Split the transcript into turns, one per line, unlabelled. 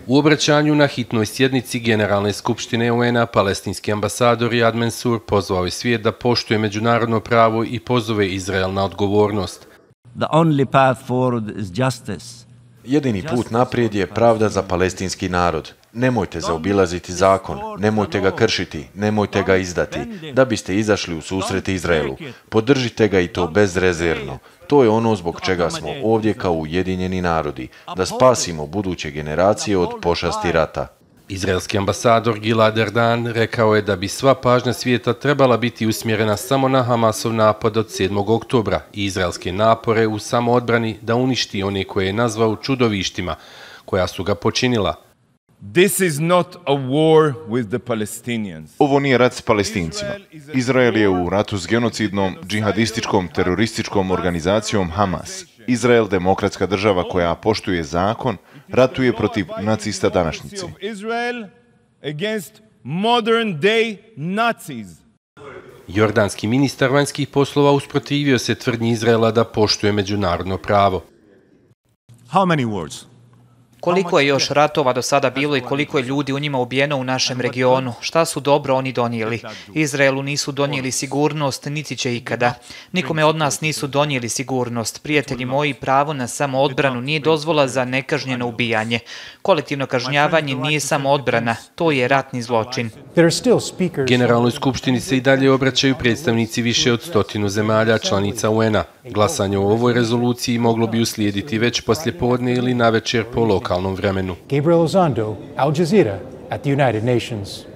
U obraćanju na hitnoj sjednici Generalne skupštine UN-a palestinski ambasador Riyad Mansour pozvao je svijet da poštuje međunarodno pravo i pozove Izrael na odgovornost.
Jedini put naprijed je pravda za palestinski narod. Nemojte zaobilaziti zakon, nemojte ga kršiti, nemojte ga izdati, da biste izašli u susret Izraelu. Podržite ga i to bezrezervno. To je ono zbog čega smo ovdje kao Ujedinjeni narodi, da spasimo buduće generacije od pošasti rata.
Izraelski ambasador Gilad Erdan rekao je da bi sva pažnja svijeta trebala biti usmjerena samo na Hamasov napad od 7. oktobra i izraelske napore u samoodbrani da uništi one koje je nazvao čudovištima, koja su ga počinila.
Ovo nije rat s Palestincima. Izrael je u ratu s genocidnom, džihadističkom, terorističkom organizacijom Hamas. Izrael, demokratska država koja poštuje zakon, ratuje protiv nacista današnjice.
Jordanski ministar vanjskih poslova usprotivio se tvrdnji Izraela da poštuje međunarodno pravo.
Koliko je još ratova do sada bilo i koliko je ljudi u njima ubijeno u našem regionu? Šta su dobro oni donijeli? Izraelu nisu donijeli sigurnost, niti će ikada. Nikome od nas nisu donijeli sigurnost. Prijatelji moji, pravo na samoodbranu nije dozvola za nekažnjeno ubijanje. Kolektivno kažnjavanje nije samoodbrana, to je ratni zločin.
Generalnoj skupštini se i dalje obraćaju predstavnici više od 100 zemalja članica UN-a. Glasanje o ovoj rezoluciji moglo bi uslijediti već poslijepodne ili navečer po lokalnom vremenu.
Gabriel Ozondo, Al Jazeera, at the United Nations.